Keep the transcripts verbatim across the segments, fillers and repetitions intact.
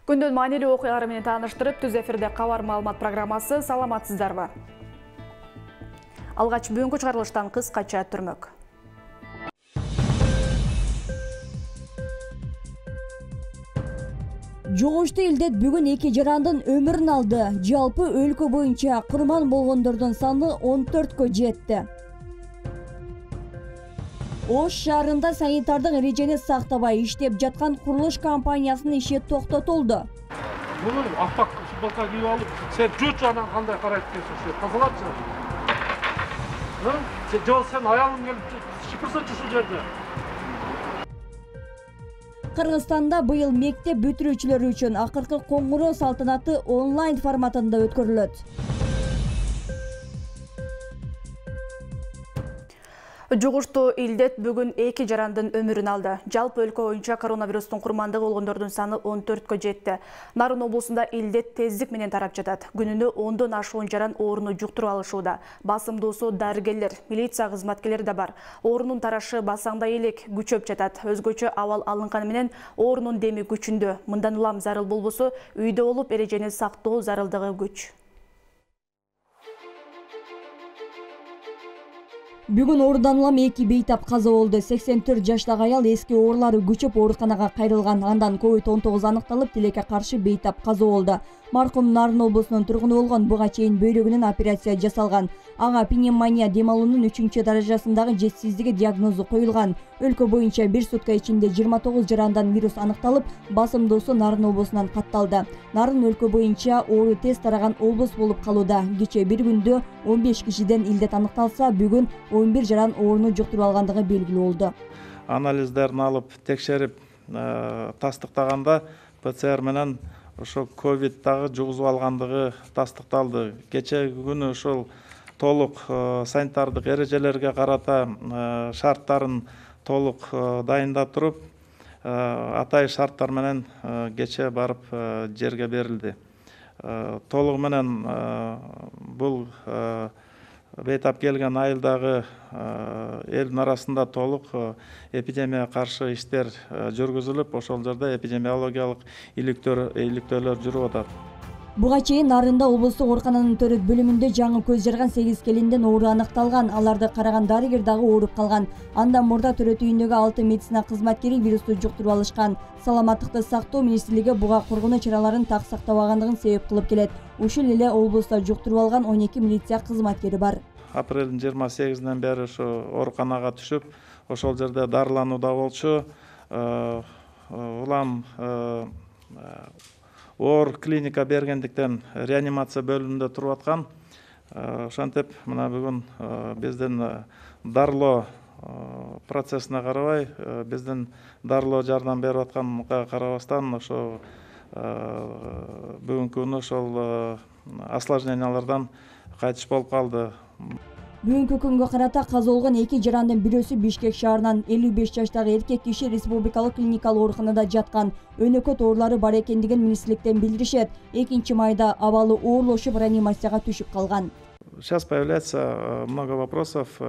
Күндүн маанилүү окуялары менен тааныштырып, түз эфирде кабар маалымат программасы. Саламатсыздарбы? Алгач бүгүнкү чыгарылыштан кыскача түрмөк. Жогоштуу илдет бүгүн эки жарандын өмүрүн алды. Жалпы өлкө боюнча курман болгондордун саны он төрткө жетти. Ош шаарында санитардык эрежени сактабай иштеп жаткан курулуш компаниясынын иши токтотулду. Муну аппак футболка кийип алып, сен жочу анан кандай карайт экенсиң, ошо тазалапсың. Ха? Сен жол сен аялың келип шыпырсачы ушул жерде. Кыргызстанда быйыл мектеп бүтүрүүчүлөр үчүн акыркы коңгуроо салтанаты онлайн форматында өткөрүлөт. Жугуштуу илдет бүгүн эки жарандын өмүрүн алды. Жалпы өлкө боюнча коронавирустун курмандыгы болгондордун саны он төрткө жетти. Нарын облусунда илдет тездик менен тарап жатат. Күнүнө ондон ашуун жаран ооруну жуктуруп алышууда. Басымдуусу дарыгерлер, милиция кызматкерлери да бар. Оорунун тарашы басаңдай элек күчөп жатат. Өзгөчө абал алынганы менен оорунун деми күчүндө. Мындан улам зарыл болбосо, үйдө болуп эрежени сактоо зарылдыгы күч. Бүгүн оорудан улам эки бейтап каза болду. сексен төрт жаштагы аял эски оорулары күчөп ооруканага кайрылган. Андан ковид он тогуз аныкталып, тилекке каршы бейтап каза болду. Маркум Нарын облусунун тургуну болгон, буга чейин бөйрөгүнөн операция жасалган. Ага пневмония дем алуунун үчүнчү даражасындагы жетишсиздиги диагнозу коюлган. Өлкө боюнча бир сутка ичинде жыйырма тогуз жарандан вирус аныкталып, басымдуусу Нарын облусунан катталды. Нарын өлкө боюнча оору тез тараган облус болуп калууда. Кечээ бир күндө он беш кишиден илдет аныкталса, бүгүн он бир жаран ооруну жуктуруп алгандыгы белгилүү болду. Анализдерин алып текшерип тастыктаганда ПЦР менен ошо ковид дагы жугузуп алгандыгы тастыкталды. Кечээги күнү ошол толук санитардык эрежелерге карата шарттарын толук дайындап туруп, атай шарттар менен кечээ барып жерге берилди. Толугу менен бул бейтап келген айылдагы элдин арасында толук эпидемияга каршы иштер жүргүзүлүп, ошол жерде эпидемиологиялык иликтөөлөр жүрүп атат. Буга чейин Нарында облустук оорукананын төрөт бөлүмүндө жаңы көз жарган сегиз келинден оору аныкталган. Аларды караган дарыгер дагы ооруп калган. Андан мурда төрөт үйүндөгү алты медицина кызматкери вирусту жуктуруп алышкан. Саламаттыкты сактоо министрлиги буга коргонуу чараларын так сактабагандыгын себеп кылып келет. Ушул эле облустта жуктуруп алган он эки милиция кызматкери бар. Апрелдин жыйырма сегизинен бери ошо ооруканага түшүп, ошол жерде дарыланууда болчу. Улам оор клиника бергендиктен реанимация бөлүмүндө туруп аткан. Ошентип, мына бүгүн биздин дарылоо процессине карабай, биздин дарылоо жардам берип атканга карабастан, ошо бүгүнкү күнү ошол осложнениялардан кайтыш болуп калды. Бүгүнкү күнгө карата каза болгон эки жарандын бирөөсү Бишкек шаарынан элүү беш жаштагы эркек киши республикалык клиникалык ооруканада жаткан. Өнөкөт оорулары бар экендигин министрликтен билдиришет. экинчи майда абалы оорлошуп реанимацияга түшүп калган. Сейчас появляется много вопросов,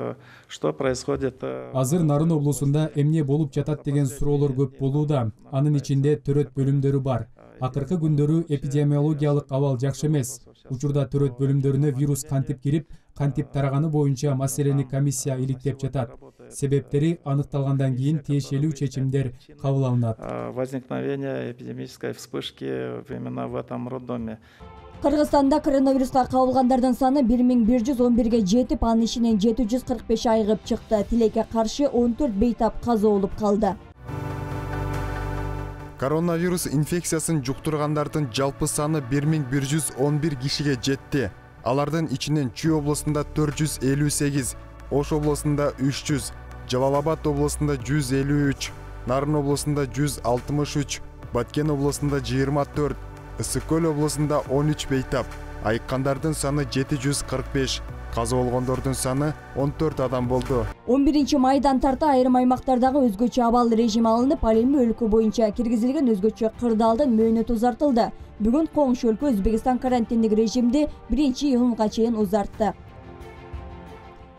что происходит. Азыр Нарын облусунда эмне болуп жатат деген суроолор көп болууда. Анын ичинде төрөт бөлүмдөрү бар. Акыркы күндөрү эпидемиологиялык абал жакшы эмес. Учурда төрөт бөлүмдөрүнө вирус кантип кирип, кантип тараганы боюнча маселени комиссия иликтеп жатат. Себептери аныкталгандан кийин тиешелүү чечимдер кабыл алынат. Возникновение эпидемической вспышки именно в этом роддоме. Кыргызстанда коронавируска кабылгандардын саны бир миң бир жүз он бирге жетип, анын ичинен жети жүз кырк беш айыгып чыкты. Тилекке каршы он төрт бейтап каза болуп калды. Коронавирус инфекциясын жуктургандардын жалпы саны бир миң бир жүз он бир кишиге жетти. Алардын ичинен Чүй облусунда төрт жүз элүү сегиз, Ош облусунда үч жүз, Жалал Абад облусунда жүз элүү үч, Нарын облусунда жүз алтымыш үч, Баткен облусунда жыйырма төрт, Ысык көл облусунда он үч бейтап, айыккандардын саны жети жүз кырк беш, каза болгондордун саны он төрт адам болду. он биринчи майдан тарта айрым аймактардагы өзгөчө абал режим алынып, ал эми өлкө боюнча киргизилген өзгөчө кырдаалдын мөөнөтү узартылды. Бүгүн коңшу өлкө Өзбекстан карантиндик режимди биринчи июнга чейин узартты.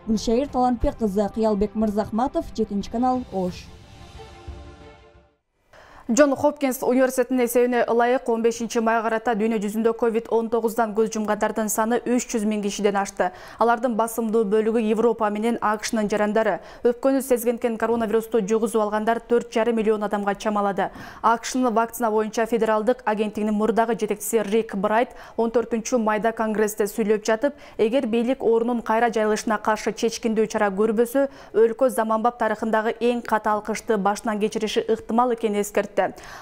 Гүлшайыр Талантбек кызы, Кыялбек Мырзахматов, жетинчи канал, Ош. Джон Хопкинс университетинин эсебине ылайык он бешинчи майга карата дүйнө жүзүндө ковид он тогуздан көз жумгандардын саны үч жүз миң кишиден ашты. Алардын басымдуу бөлүгү Европа менен АКШнын жарандары. Өпкөнү сезгенкен коронавирусту жугузуп алгандар төрт жарым миллион адамга чамалады. АКШнын вакцина боюнча федералдык агенттигинин мурдагы жетекчиси Рик Брайт он төртүнчү майда конгрессте сүйлөп жатып, эгер бийлик оорунун кайра жайылышына каршы чечкиндүү чара көрбөсө, өлкө заманбап тарыхындагы эң катаал кышты башынан кечириши ыктымал экенин эскертти.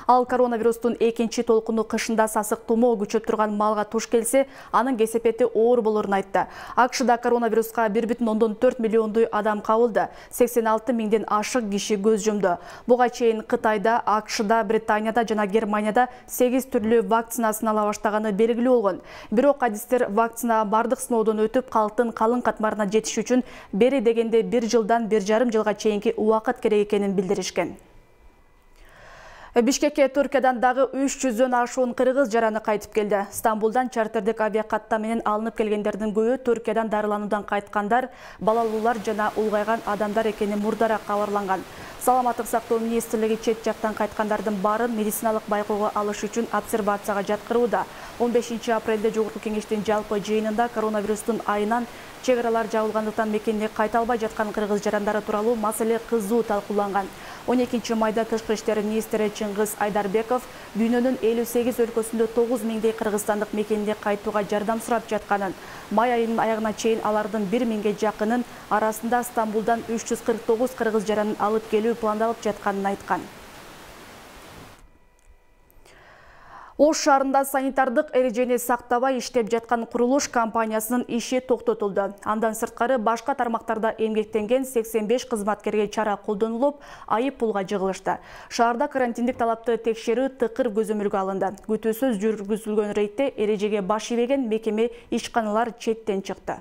Ал коронавирустун экинчи толкуну кышында сасык тумоо күчөп турган малга туш келсе, анын кесепети оор болорун айтты. АКШда коронавируска бир бүтүн ондон төрт миллиондой адам кабылды. сексен алты миңден ашык киши көз жумду. Буга чейин Кытайда, АКШда, Британияда жана Германияда сегиз түрлүү вакцина сынала баштаганы белгилүү болгон. Бирок адистер вакцина бардык сыноодон өтүп, калктын калың катмарына жетиш үчүн бери дегенде бир жылдан бир жарым жылга чейинки убакыт керек экенин билдиришкен. Бишкекке Түркиядан дагы үч жүздөн ашуун кыргыз жараны кайтып келди. Стамбулдан чартердик авиакатта менен алынып келгендердин көбү Түркиядан дарылануудан кайткандар, балалуулар жана улгайган адамдар экени мурдараак кабарланган. Саламаттык сактоо министрлиги чет жактан кайткандардын баарын медициналык байкоого алыш үчүн обсервацияга жаткырууда. он бешинчи апрелде Жогорку кеңештин жалпы жыйынында коронавирустун айынан чек аралар жабылгандыктан мекенине кайта албай жаткан кыргыз жарандары тууралуу маселе кызуу талкууланган. он экинчи майда тышкы иштер министри Чыңгыз Айдарбеков дүйнөнүн элүү сегиз өлкөсүндө тогуз миңдей кыргызстандык мекенине кайтууга жардам сурап жатканын, май айынын аягына чейин алардын бир миңге жакынын арасында Стамбулдан үч жүз кырк тогуз кыргыз жаранын алып келүү пландалып жатканын айткан. Ош шаарында санитардык эрежени сактабай иштеп жаткан курулуш компаниясынын иши токтотулду. Андан сырткары башка тармактарда эмгектенген сексен беш кызматкерге чара колдонулуп, айып пулга жыгылышты. Шаарда карантиндик талапты текшерүү тыкыр көзөмөлгө алынды. Күтүүсүз жүргүзүлгөн рейдте эрежеге баш ийбеген мекеме ишканалар четтен чыкты.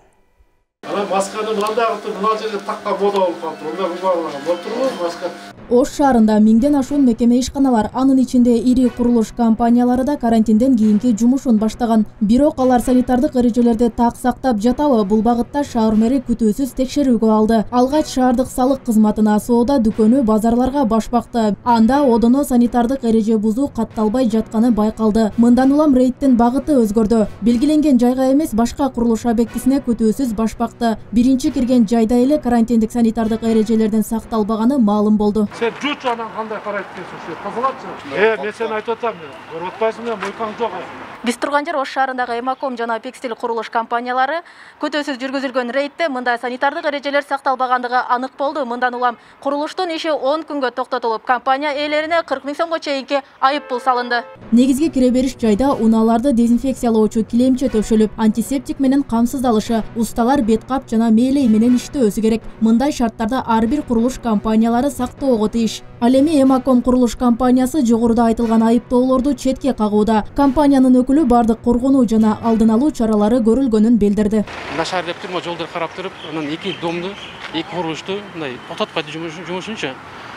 Ана масканы мындай кылып, мына жерге таккан мода болуп калды. Онда баалган болтурбу маска? Ош шаарында миңден ашуун мекеме ишканалар, анын ичинде ири курулуш компаниялары да карантинден кийинки жумушун баштаган. Бирок алар санитардык эрежелерди так сактап жатабы? Бул багытта шаар мэри күтүүсүз текшерүүгө алды. Алгач шаардык салык кызматына соода дүкөнү, базарларга баш бакты. Анда одоно санитардык эреже бузуу катталбай жатканы байкалды. Мындан улам рейдтин багыты өзгөрдү. Белгиленген жайга эмес, башка курулуш объектисине күтүүсүз баш бакты. Биринчи кирген жайда эле карантиндик санитардык эрежелердин сакталбаганы маалым болду. Сен жуч анан кандай карайт экенсиң, сен тазалатчы. Э, мен сени айтып атам, көрүп атпайсыңбы, мойкаң жок азыр. Биз турган жер Ош шаарындагы Эмаком жана Пекстил курулуш компаниялары күтүүсүз жүргүзүлгөн рейдте мындай санитардык эрежелер сакталбагандыгы анык болду. Мындан улам курулуштун иши он күнгө токтотулуп, компания ээлерине кырк миң сомго чейинки айып пул салынды. Негизги кире бериш жайда унааларды дезинфекциялоочу килемче төшөлүп, антисептик менен камсыздалышы, усталар бет кап жана мээлей менен иштөөсү керек. Мындай шарттарда ар бир курулуш компаниялары сактоого тийиш. Ал эми Эмаком курулуш компаниясы жогоруда айтылган айыптоолорду четке кагууда. Компаниянын өкүлү бардык коргонуу жана алдын алуу чаралары көрүлгөнүн билдирди. Нашар деп турма жолдор карап туруп, анан эки домду, эки курулушту мындай токтотпойт жумушунчу.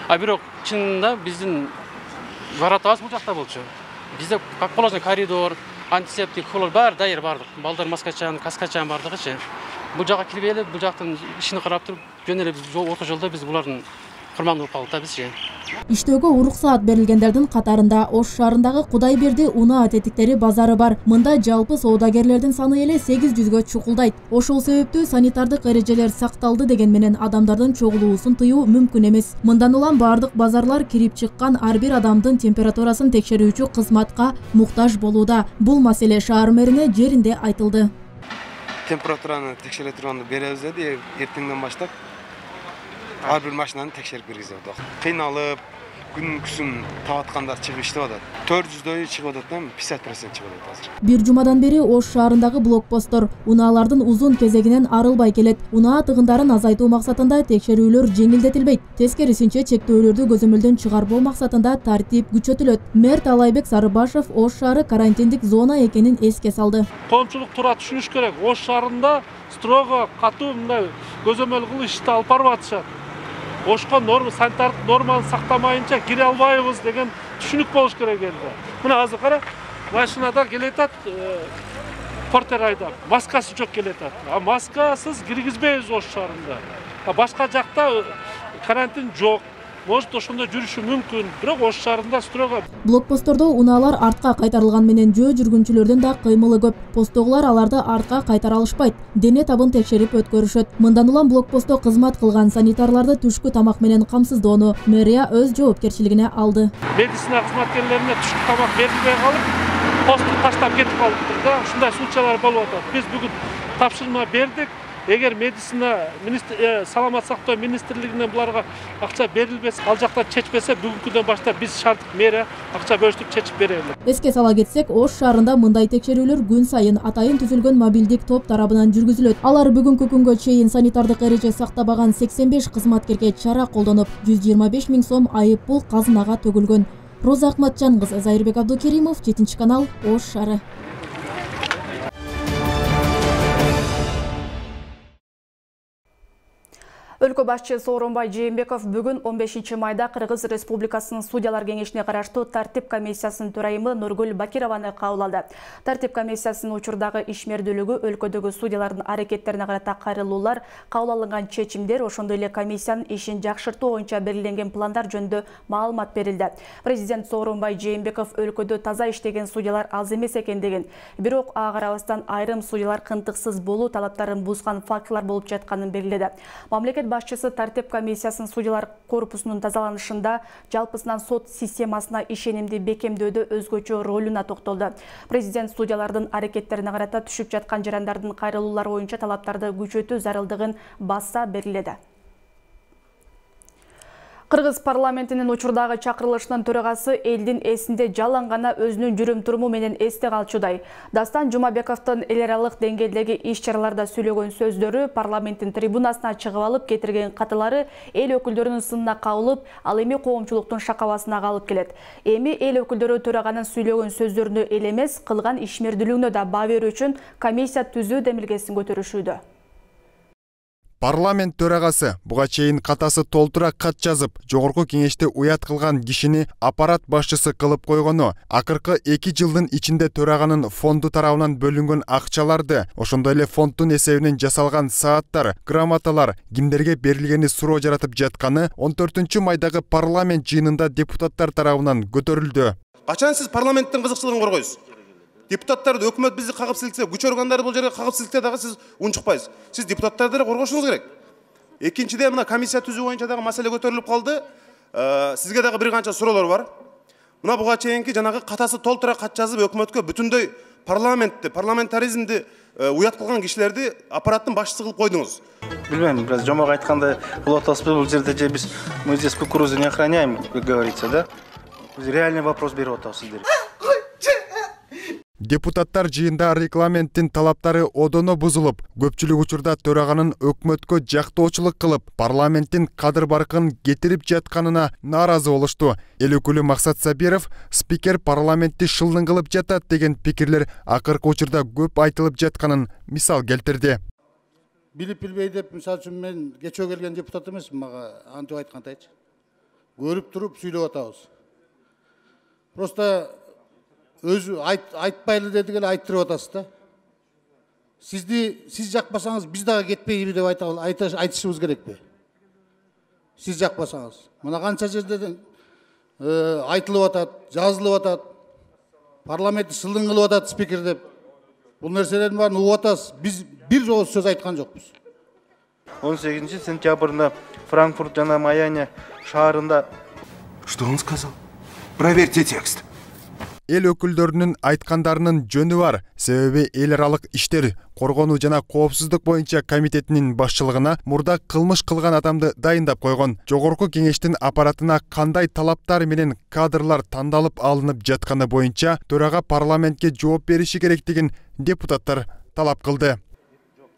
А бирок чынында биздин варатабыз бул жакта болчу. Бизде как положено коридор, антисептик, хлор баары дайыр бардык. Балдар маскачан, каскачан бардыгычы. Бул жака кирип эле, бул жактын ишин карап туруп, жөн эле орто жолдо биз булардын курмандуу болуп калдык бизчи. Иштөөгө уруксаат берилгендердин катарында Ош шаарындагы Кудайберди унаа тетиктери базары бар. Мында жалпы соодагерлердин саны эле сегиз жүзгө чукулдайт. Ошол себептүү санитардык эрежелер сакталды деген менен адамдардын чогулуусун тыюу мүмкүн эмес. Мындан улам бардык базарлар кирип чыккан ар бир адамдын температурасын текшерүүчү кызматка муктаж болууда. Бул маселе шаар мэрине жеринде айтылды. Температураны текшере турганды беребиз деди, эртеңден баштап ар бир машинаны текшерип киргизип атат. Кыйналып, күн күсүн табаткандар чыгып иштеп атат. төрт жүздөй чыгып атат, пятьдесят процент чыгып атат азыр. Бир жумадан бери Ош шаарындагы блокпосттор унаалардын узун кезегинен арылбай келет. Унаа тыгындарын азайтуу максатында текшерүүлөр жеңилдетилбейт. Тескерисинче чектөөлөрдү көзөмөлдөн чыгарбоо максатында тартип күчөтүлөт. Мэр Талайбек Сарыбашев Ош шаары карантиндик зона экенин эске салды. Коомчулук туура түшүнүш керек. Ош шаарында строго катуу мындай көзөмөл кылып ишти алып барып атышат. Ошко норма, санитардык норманы сактамайынча кире албайбыз деген түшүнүк болуш керек элде. Мына азыр кара, машинада келетат, портер айдап, маскасы жок келетат. А маскасыз киргизбейбиз Ош шаарында. А башка жакта карантин жок. может ошондо жүрүшү мүмкүн, бирок Ош шаарында строго. Блокпосттордо унаалар артка кайтарылган менен жөө жүргүнчүлөрдүн да кыймылы көп. Посттогулар аларды артка кайтара алышпайт. Дене табын текшерип өткөрүшөт. Мындан улам блокпостто кызмат кылган санитарларды түшкү тамак менен камсыздоону мэрия өз жоопкерчилигине алды. Медицина кызматкерлерине түшкү тамак берилбей калып, постту таштап кетип калыптыр да. Ушундай случайлар болуп атат. Биз бүгүн тапшырма бердик. Эгер медицина саламат сактоо министрлигинен буларга акча берилбесе, ал жактан чечпесе, бүгүнкүдөн баштап биз шаардык мэрия акча бөлүштүрүп чечип берели. Эске сала кетсек, Ош шаарында мындай текшерүүлөр күн сайын атайын түзүлгөн мобилдик топ тарабынан жүргүзүлөт. Алар бүгүнкү күнгө чейин санитардык эреже сактабаган сексен беш кызматкерге чара колдонуп, жүз жыйырма беш миң сом айып пул казынага төгүлгөн. Роза Акматжан кызы, Зайырбек Абдукеримов, жетинчи канал, Ош шаары. Өлкө башчысы Сооронбай Жээнбеков бүгүн он бешинчи майда Кыргыз Республикасынын судьялар кеңешине караштуу тартип комиссиясынын төрайымы Нургүл Бакированы кабыл алды. Тартип комиссиясынын учурдагы ишмердүүлүгү, өлкөдөгү судьялардын аракеттерине карата кайрылуулар, кабыл алынган чечимдер, ошондой эле комиссиянын ишин жакшыртуу боюнча белгиленген пландар жөнүндө маалымат берилди. Президент Сооронбай Жээнбеков өлкөдө таза иштеген судьялар аз эмес экендигин, бирок ага карабастан айрым судьялар кынтыксыз болуу талаптарын бузган фактылар болуп жатканын белгиледи. Мамлекет башчысы тартип комиссиясынын судьялар корпусунун тазаланышында жалпысынан сот системасына ишенимди бекемдөөдө өзгөчө ролуна токтолду. Президент судьялардын аракеттерине карата түшүп жаткан жарандардын кайрылуулары боюнча талаптарды күчөтүү зарылдыгын баса белгиледи. Кыргыз парламентинин учурдагы чакырылышынын төрагасы элдин эсинде жалаң гана өзүнүн жүрүм-туруму менен эсте калчудай. Дастан Жумабековдун эл аралык деңгээлдеги иш-чараларда сүйлөгөн сөздөрү, парламенттин трибунасына чыгып алып кетирген катылары эл өкүлдөрүнүн сынына кабылып, ал эми коомчулуктун шакабасына калып келет. Эми эл өкүлдөрү төраганын сүйлөгөн сөздөрүнө эле эмес, кылган ишмердүүлүгүнө да баа берүү үчүн комиссия түзүү демилгесин көтөрүшүүдө. Парламент төрагасы буга чейин катасы толтура кат жазып, жогорку кеңеште уят кылган кишини аппарат башчысы кылып койгону, акыркы эки жылдын ичинде төраганын фонду тарабынан бөлүнгөн акчаларды, ошондой эле фонддун эсебинен жасалган сааттар, грамоталар кимдерге берилгени суроо жаратып жатканы он төртүнчү майдагы парламент жыйынында депутаттар тарабынан көтөрүлдү. Качан сиз парламенттин кызыкчылыгын коргойсуз? Депутаттарды өкмөт бизди кагып силксе, күч органдары бул жерге кагып силксе дагы сиз унчукпайсыз. Сиз депутаттарды деле коргошуңуз керек. Экинчиден мына комиссия түзүү боюнча дагы маселе көтөрүлүп калды. Сизге дагы бир канча суроолор бар. Мына буга чейинки жанагы катасы толтура кат жазып өкмөткө бүтүндөй парламентти, парламентаризмди уят кылган кишилерди аппараттын башчысы кылып койдуңуз. Билбейм, бираз жомок айткандай кылып атабызбы, бул жерде же биз мы здесь кукурузу не охраняем, как говорится, да? Биз реальный вопрос берип атабыз сиздерге. Депутаттар жыйында регламенттин талаптары одоно бузулуп, көпчүлүк учурда төраганын өкмөткө жактоочулук кылып, парламенттин кадыр баркын кетирип жатканына нааразы болушту. Эл өкүлү Максат Сабиров спикер парламентти шылдың кылып жатат деген пикирлер акыркы учурда көп айтылып жатканын мисал келтирди. Билип билбей деп, мисалы үчүн мен кечөө келген депутат эмесмин, мага антип айткандайчы. Көрүп туруп сүйлөп атабыз. Просто өзү айтпайлы дедик эле айттырып атасыз да. Сизди сиз жакпасаңыз биз дагы кетпейбиз деп айтышыбыз керекпи? Сиз жакпасаңыз. Мына канча жерден айтылып атат, жазылып атат. Парламентти шылдың кылып атат спикер деп. Бул нерселердин баарын угуп атасыз. Биз бир жолу сөз айткан жокпуз. он сегизинчи сентябрда Франкфурт жана Майами шаарында. Что он сказал? Проверьте текст. Эл өкүлдөрүнүн айткандарынын жөнү бар. Себеби эл аралык иштер, коргонуу жана коопсуздук боюнча комитетинин башчылыгына мурда кылмыш кылган адамды дайындап койгон. Жогорку кеңештин аппаратына кандай талаптар менен кадрлар тандалып алынып жатканы боюнча төрага парламентке жооп бериши керектигин депутаттар талап кылды.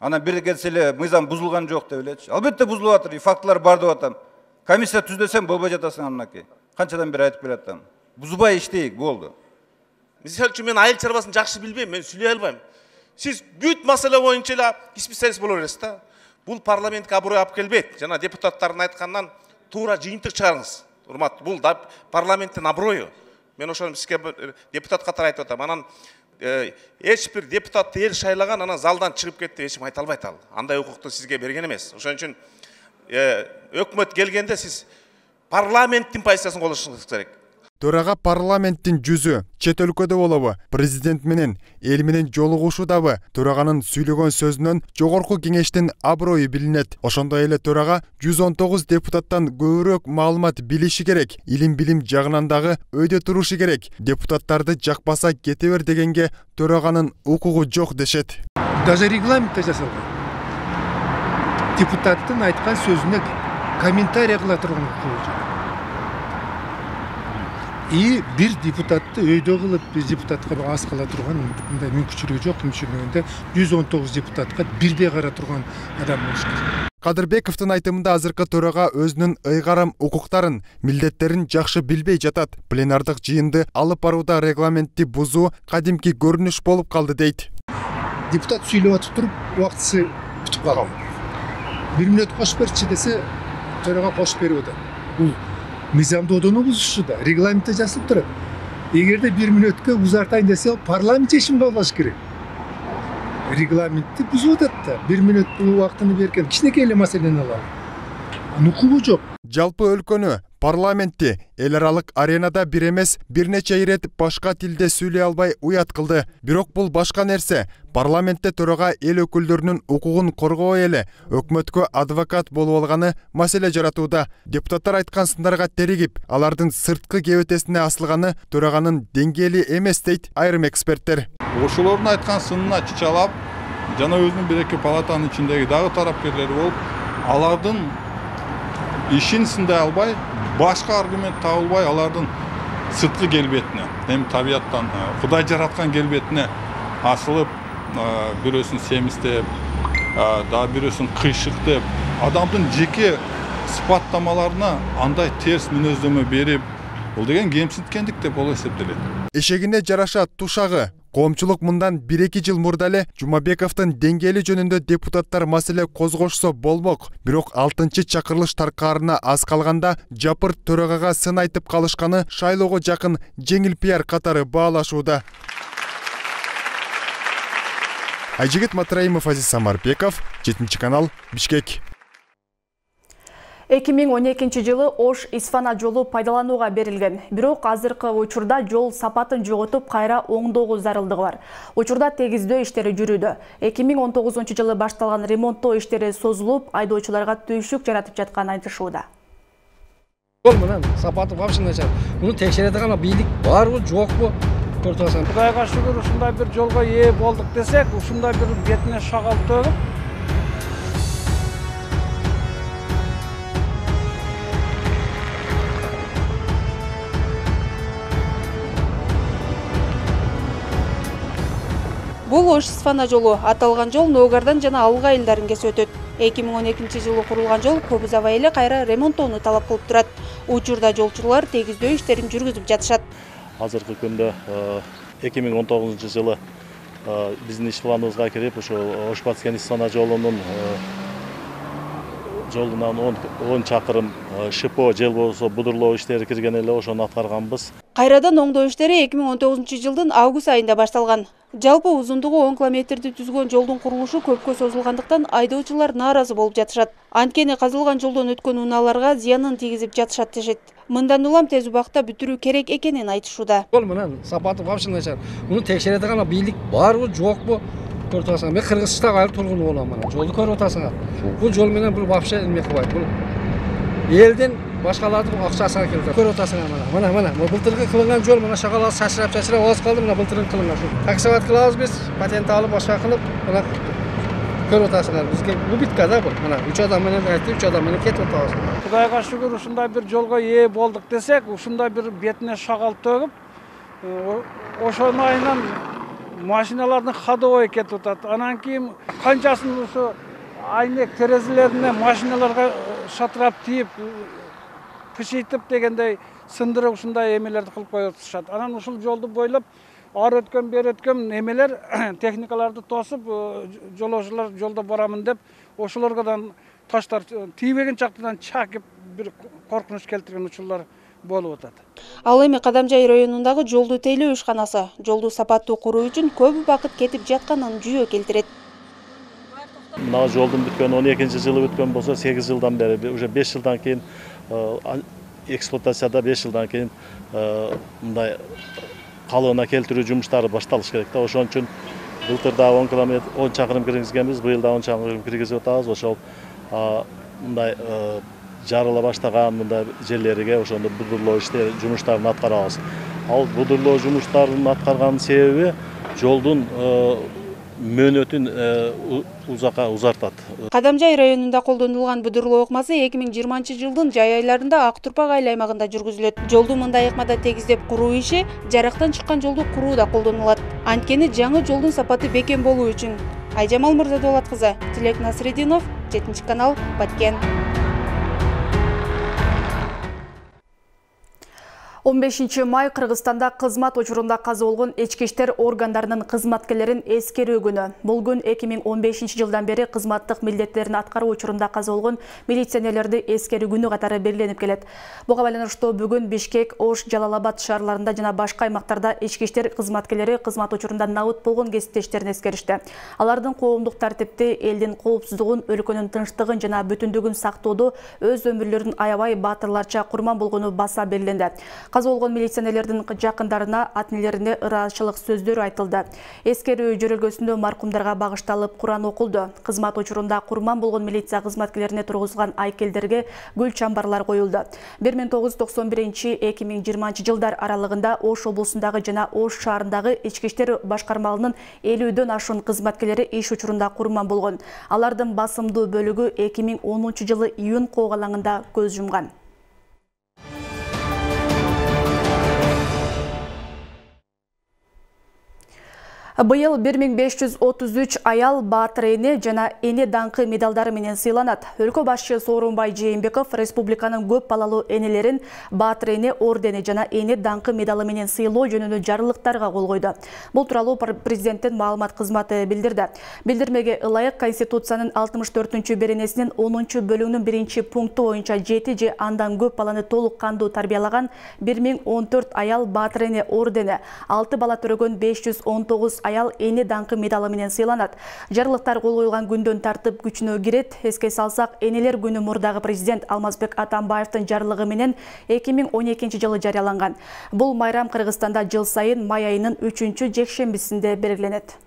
Ана бир келсе эле мыйзам бузулган жок деп элечи. Албетте бузулуп атыр, и фактылар бар деп атам. Комиссия түздесем болбой жатасың анакей. Канчадан бери айтып келатам. Бузбай иштейик, болду. Мисалы үчүн мен айыл чарбасын жакшы билбейм, мен сүйлөй албайм. Сиз бүт маселе боюнча эле специалист боло бересиз да. Бул парламентке аброй алып келбейт. Жана депутаттардын айткандан туура жыйынтык чыгарыңыз. Урматтуу, бул да парламенттин аброю. Мен ошону сизге депутат катары айтып атам. Анан эч бир депутатты эл шайлаган, анан залдан чыгып кетти деп эч ким айта албайт ал. Андай укукту сизге берген эмес. Ошон үчүн өкмөт келгенде сиз парламенттин позициясын колдошуңуз керек. Төрага парламенттин жүзү чет өлкөдө болобу, президент менен эл менен жолугушуудабы төраганын сүйлөгөн сөзүнөн жогорку кеңештин аброю билинет. Ошондой эле төрага жүз он тогуз депутаттан көбүрөөк маалымат билиши керек, илим билим жагынан дагы өйдө турушу керек. Депутаттарды жакпаса кете бер дегенге төраганын укугу жок дешет. Даже регламентте жасалган. Депутаттын айткан сөзүнө комментарий кыла турган укугу жок. И бир депутатты өйдө кылып, бир депутатка аз кыла турган мындай мүмкүнчүлүгү жок. Мүмкүнчүлүгүндө жүз он тогуз депутатка бирдей кара турган адам болуш керек. Кадырбековдун айтымында азыркы төрага өзүнүн ыйгарым укуктарын, милдеттерин жакшы билбей жатат. Пленардык жыйынды алып барууда регламентти бузуу кадимки көрүнүш болуп калды дейт. Депутат сүйлөп атып туруп, убактысы бүтүп калган. бир мүнөт кошуп берчи десе, төрага кошуп берип атат. Бул мыйзамдоодону бузушу да, регламентте жазылып турат. Эгерде бир мүнөткө узартайын десе, парламент чечим кабыл алыш керек. Регламентти бузуп атат да, бир мүнөт бул убактыны берген кичинекей эле маселени алалы. Укугу жок. Жалпы өлкөнү, парламентти эл аралык аренада бир эмес бир нече ирет башка тилде сүйлөй албай уят кылды. Бирок бул башка нерсе. Парламентте төрага эл өкүлдөрүнүн укугун коргобой эле өкмөткө адвокат болуп алганы маселе жаратууда. Депутаттар айткан сындарга теригип, алардын сырткы кебетесине асылганы төраганын деңгээли эмес дейт айрым эксперттер. Ошолордун айткан сынына чычалап, жана өзүнүн бир эки палатанын ичиндеги дагы тарапкерлери болуп, алардын ишин сындай албай, башка аргумент табылбай, алардын сырткы келбетине, эми табияттан Кудай жараткан келбетине асылып, бирөөсүн семиздеп, дагы бирөөсүн кыйшык деп, адамдын жеке сыпаттамаларына андай терс мүнөздөмө берип, бул деген кемсинткендик деп болуп эсептелет. Эшегине жараша тушагы. Коомчулук мындан бир эки жыл мурда эле Жумабековдун деңгээли жөнүндө депутаттар маселе козгошсо болмок. Бирок алтынчы чакырылыш таркаарына аз калганда жапыр төрагага сын айтып калышканы шайлоого жакын жеңил пиар катары баалашууда. Айжигит Матраимов, Азиз Самарбеков, жетинчи канал, Бишкек. эки миң он экинчи жылы Ош-Исфана жолу пайдаланууга берилген. Бирок азыркы учурда жол сапатын жоготуп, кайра оңдоого зарылдыгы бар. Учурда тегиздөө иштери жүрүүдө. эки миң он тогузунчу жылы башталган ремонттоо иштери созулуп, айдоочуларга түйшүк жаратып жатканын айтышууда. Жол менен сапаты вообще начар. Муну текшере турган бийлик барбы, жокпу? Кудайга шүгүр, ушундай бир жолго ээ болдук десек, ушундай бир бетине шагал төгүп, Бул Ош-Исфана жолу. Аталган жол Ногардан жана Алга айылдарын кесип өтөт. эки миң он экинчи жылы курулган жол Кобуз аба эле кайра ремонттоону талап кылып турат. Учурда жолчулар тегиздөө иштерин жүргүзүп жатышат. Азыркы күндө эки миң он тогузунчу жылы биздин иш планыбызга кирип, ошо Ош-Исфана жолунун жолунан он чакырым ШПО же болбосо будурлоо иштери кирген эле, ошону аткарганбыз. Кайрадан оңдоо иштери эки миң он тогузунчу жылдын август айында башталган. Жалпы узундугу он километрди түзгөн жолдун курулушу көпкө созулгандыктан айдоочулар нааразы болуп жатышат. Анткени казылган жолдон өткөн унааларга зыянын тийгизип жатышат дешет. Мындан улам тез убакытта бүтүрүү керек экенин айтышууда. Жол менен сапаты вообще начар. Муну текшере турган бийлик барбы, жокпу? Көрүп атасың. Мен Кыргызстан айыл тургуну болом мына. Жолду көрүп атасың. Бул жол менен бул вообще эме кылбайт. Бул элдин башкалардын акчасына келди. Көрүп атасың мына. Мына мына былтыркы кылынган жол мына шагалар сачырап чачырап оз калды, мына былтыркы кылынган. Таксоват кылабыз биз, патент алып башка кылып, мына көрүп атасыңар. Бизге бул битка да бул. Мына үч адам менен айтып, үч адам менен кетип атабыз. Кудайга шүгүр, ушундай бир жолго ээ болдук десек, ушундай бир бетине шагал төгүп, ошону айынан машиналардын ходовой кетип атат. Анан кийин канчасын ушу айнек терезелерине машиналарга шатырап тийип, кышыйтып дегендей сындырып ушундай эмелерди кылып коюп атышат. Анан ушул жолду бойлоп ары өткөн, бери өткөн эмелер техникаларды тосуп, жолоочулар жолдо барамын деп, ошолоргодан таштар тийбеген жактан чакып бир коркунуч келтирген учурлар болуп атат. Ал эми Кадамжай районундагы жолду тейлөө ишканасы жолду сапаттуу куруу үчүн көп убакыт кетип жатканын жүйө келтирет. Мына жолдун бүткөн он экинчи жылы бүткөн болсо, сегиз жылдан бери, уже беш жылдан кийин эксплуатацияда беш жылдан кийин мындай калыбына келтирүү жумуштары башталыш керек да. Ошон үчүн былтыр да он километр он чакырым киргизгенбиз, быйыл да он чакырым киргизип атабыз. Ошол мындай жарыла баштаган мындай жерлерге ошондо будурлоо иштери жумуштарын аткарабыз. Ал будурлоо жумуштарын аткарганын себеби жолдун мөөнөтүн узакка узартат. Кадамжай районунда колдонулган будурлоо ыкмасы эки миң жыйырманчы жылдын жай айларында Ак Турпак айыл аймагында жүргүзүлөт. Жолду мындай ыкмада тегиздеп куруу иши жарыктан чыккан жолду курууда колдонулат. Анткени жаңы жолдун сапаты бекем болуу үчүн. Айжамал Мырзадолат кызы, Тилек Насрединов, жетинчи канал, Баткен. он бешинчи май Кыргызстанда кызмат учурунда каза болгон ички иштер органдарынын кызматкерлерин эскерүү күнү. Бул күн эки миң он бешинчи жылдан бери кызматтык милдеттерин аткаруу учурунда каза болгон милиционерлерди эскерүү күнү катары белгиленип келет. Буга байланыштуу бүгүн Бишкек, Ош, Жалал-Абад шаарларында жана башка аймактарда ички иштер кызматкерлери кызмат учурунда набыт болгон кесиптештерин эскеришти. Алардын коомдук тартипти, элдин коопсуздугун, өлкөнүн тынчтыгын жана бүтүндүгүн сактоодо өз өмүрлөрүн аябай баатырларча курман болгону баса белгиленди. Каза болгон милиционерлердин жакындарына, ата-энелерине ыраазычылык сөздөр айтылды. Эскерүү жөрөлгөсүндө маркумдарга багышталып Куран окулду. Кызмат учурунда курман болгон милиция кызматкерлерине тургузулган айкелдерге гүл чамбарлар коюлду. бир миң тогуз жүз токсон биринчи — эки миң жыйырманчы жылдар аралыгында Ош облусундагы жана Ош шаарындагы ички иштер башкармаларынын элүүдөн ашуун кызматкерлери иш учурунда курман болгон. Алардын басымдуу бөлүгү эки миң онунчу жылы июнь коогалаңында көз жумган. Быйыл бир миң беш жүз отуз үч аял баатыр эне жана эне даңкы медалдары менен сыйланат. Өлкө башчы Сооронбай Жээнбеков республиканын көп балалуу энелерин баатыр эне ордени жана эне даңкы медалы менен сыйлоо жөнүндө жарлыктарга кол койду. Бул тууралуу президенттин маалымат кызматы билдирди. Билдирмеге ылайык Конституциянын алтымыш төртүнчү беренесинин онунчу бөлүгүнүн биринчи пункту боюнча жети же андан көп баланы толук кандуу тарбиялаган бир миң он төрт аял баатыр эне ордени, алты бала төрөгөн беш жүз он тогуз аял эне даңкы медалы менен сыйланат. Жарлыктар кол коюлган күндөн тартып күчүнө кирет. Эске салсак, энелер күнү мурдагы президент Алмазбек Атамбаевдин жарлыгы менен эки миң он экинчи жылы жарыяланган. Бул майрам Кыргызстанда жыл сайын май айынын үчүнчү жекшембисинде белгиленет.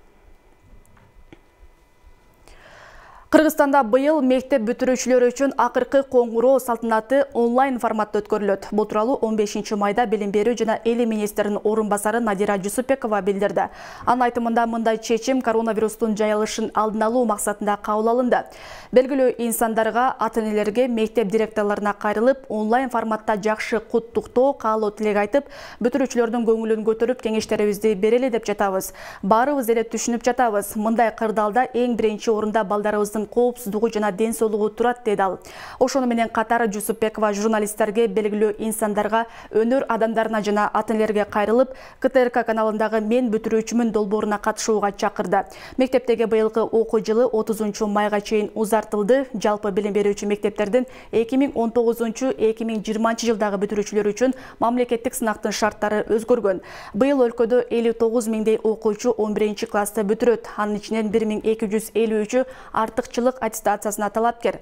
Кыргызстанда быйыл мектеп бүтүрүүчүлөр үчүн акыркы коңгуроо салтанаты онлайн форматта өткөрүлөт. Бул тууралуу он бешинчи майда билим берүү жана эли министринин орун басары Надира Жусупбекова билдирди. Анын айтымында мындай чечим коронавирустун жайылышын алдын алуу максатында кабыл алынды. Белгилүү инсандарга, ата-энелерге, мектеп директорлоруна кайрылып, онлайн форматта жакшы куттуктоо, каалоо тилек айтып, бүтүрүүчүлөрдүн көңүлүн көтөрүп, кеңештерибизди берели деп жатабыз. Баарыбыз эле түшүнүп жатабыз. Мындай кырдаалда эң биринчи орунда балдарыбыздын коопсуздугу жана ден соолугу турат, деди ал. Ошону менен катары Жусупбекова журналисттерге, белгилүү инсандарга, өнөр адамдарына жана ата-энелерге кайрылып, КТРК каналындагы Мен бүтүрүүчүмүн долбооруна катышууга чакырды. Мектептеги быйылкы окуу жылы отузунчу майга чейин узартылды. Жалпы билим берүүчү мектептердин эки миң он тогузунчу — эки миң жыйырманчы жылдагы бүтүрүүчүлөр үчүн мамлекеттик сынактын шарттары өзгөргөн. Быйыл өлкөдө элүү тогуз миңдей окуучу он биринчи классты бүтүрөт. Анын ичинен бир миң эки жүз элүү үчү артыкчылык аттестациясына талапкер.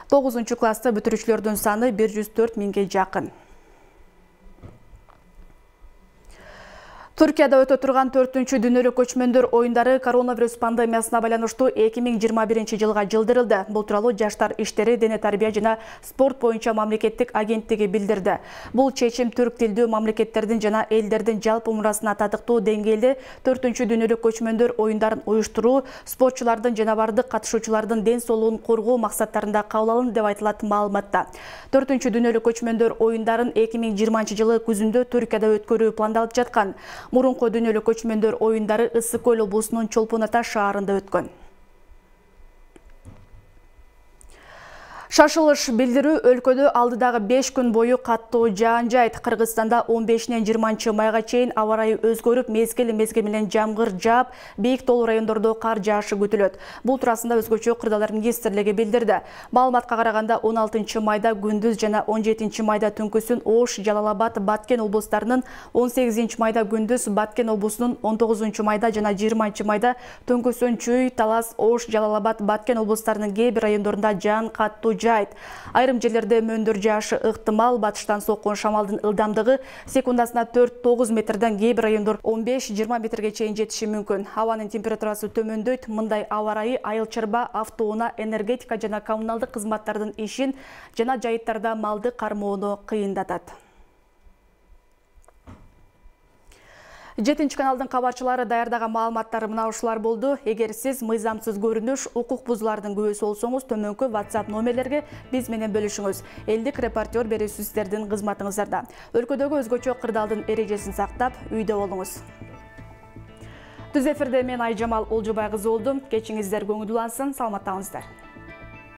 тогузунчу классты бүтүрүүчүлөрдүн саны бир жүз төрт миңге жакын. Түркияда өтө турган төртүнчү дүйнөлүк көчмөндөр оюндары коронавирус пандемиясына байланыштуу эки миң жыйырма биринчи жылга жылдырылды. Бул тууралуу Жаштар иштери, дене тарбия жана спорт боюнча мамлекеттик агенттиги билдирди. Бул чечим түрк тилдүү мамлекеттердин жана элдердин жалпы умурасына татыктуу деңгээлде төртүнчү дүйнөлүк көчмөндөр оюндарын уюштуруу, спортчулардын жана бардык катышуучулардын ден соолугун коргоо максаттарында кабыл алынды деп айтылат маалыматта. төртүнчү дүйнөлүк көчмөндөр оюндарын эки миң жыйырманчы жылы күзүндө Түркияда өткөрүү пландалып жаткан. Мурунку дүйнөлүк көчмөндөр оюндары Ысык Көл облусунун Чолпон Ата шаарында өткөн. Шашылыш билдирүү өлкөдө алдыдагы беш күн бою каттуу жаан жайт. Кыргызстанда он бешинен жыйырманчы майга чейин аба ырайы өзгөрүп, мезгил мезгил менен жамгыр жаап, бийик тоолуу райондордо кар жаашы күтүлөт. Бул туурасында өзгөчө Кырдаалдар министрлиги билдирди. Маалыматка караганда он алтынчы майда күндүз жана он жетинчи майда түнкүсүн Ош, Жалал-Абад, Баткен облустарынын, он сегизинчи майда күндүз Баткен облусунун, он тогузунчу майда жана жыйырманчы майда түнкүсүн Чүй, Талас, Ош, Жалал-Абад, Баткен облустарынын кээ бир райондорунда жаан каттуу жаайт. Айрым жерлерде мөндүр жаашы ыктымал, батыштан соккон шамалдын ылдамдыгы секундасына төрт тогуз метрден, кээ бир райондор он беш жыйырма метрге чейин жетиши мүмкүн. Абанын температурасы төмөндөйт. Мындай аба ырайы айыл чарба, автоунаа, энергетика жана коммуналдык кызматтардын ишин жана жайыттарда малды кармоону кыйындатат. жетинчи каналдын кабарчылары даярдаган маалыматтары мына ушулар болду. Эгер сиз мыйзамсыз көрүнүш, укук бузуулардын күбөсү болсоңуз, төмөнкү WhatsApp номерлерге биз менен бөлүшүңүз. Элдик репортер берүүсү сиздердин кызматыңыздарда. Өлкөдөгү өзгөчө кырдаалдын эрежесин сактап, үйдө болуңуз. Түз эфирде мен Айжамал Олжобай кызы болдум. Кечиңиздер көңүлдүүлансын, саламаттаңыздар.